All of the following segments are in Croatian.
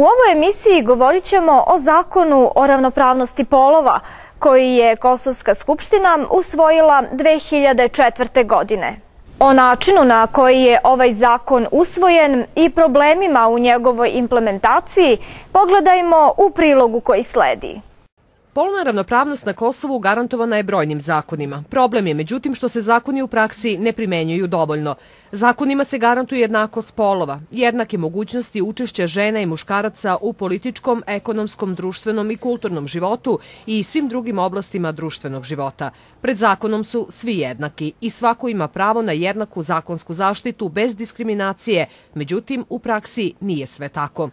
U ovoj emisiji govorit ćemo o zakonu o ravnopravnosti polova koji je Kosovska skupština usvojila 2004. godine. O načinu na koji je ovaj zakon usvojen i problemima u njegovoj implementaciji pogledajmo u prilogu koji sledi. Polna ravnopravnost na Kosovu garantovana je brojnim zakonima. Problem je, međutim, što se zakoni u praksi ne primenjuju dovoljno. Zakonima se garantuje jednakost polova, jednake mogućnosti učešća žena i muškaraca u političkom, ekonomskom, društvenom i kulturnom životu i svim drugim oblastima društvenog života. Pred zakonom su svi jednaki i svako ima pravo na jednaku zakonsku zaštitu bez diskriminacije, međutim, u praksi nije sve tako.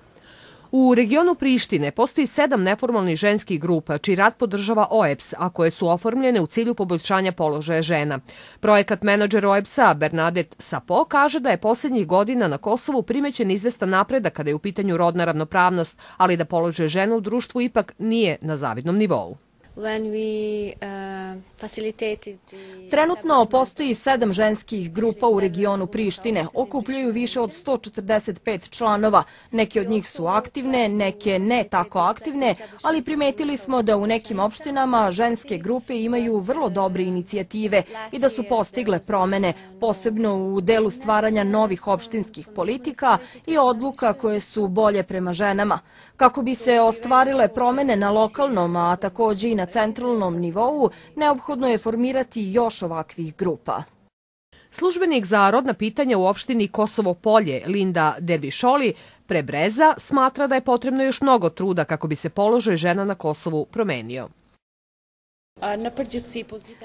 U regionu Prištine postoji 7 neformalnih ženskih grupa, čiji rad podržava OEBS, a koje su oformljene u cilju poboljšanja položaja žena. Projekat menadžer OEBS-a Bernadette Sapo kaže da je posljednjih godina na Kosovu primećen izvestan napredak kada je u pitanju rodna ravnopravnost, ali da položaj žena u društvu ipak nije na zavidnom nivou. Trenutno postoji 7 ženskih grupa u regionu Prištine. Okupljaju više od 145 članova. Neke od njih su aktivne, neke ne tako aktivne, ali primetili smo da u nekim opštinama ženske grupe imaju vrlo dobre inicijative i da su postigle promene, posebno u delu stvaranja novih opštinskih politika i odluka koje su bolje prema ženama. Kako bi se ostvarile promene na lokalnom, a također i na centralnom nivou, neophodno je formirati još ovakvih grupa. Službenik za rodna pitanja u opštini Kosovo Polje, Linda Dervišoli, Prebreza, smatra da je potrebno još mnogo truda kako bi se položaj žena na Kosovu promenio.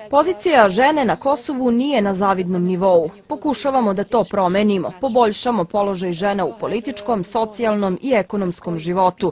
Pozicija žene na Kosovu nije na zavidnom nivou. Pokušavamo da to promenimo, poboljšamo položaj žena u političkom, socijalnom i ekonomskom životu.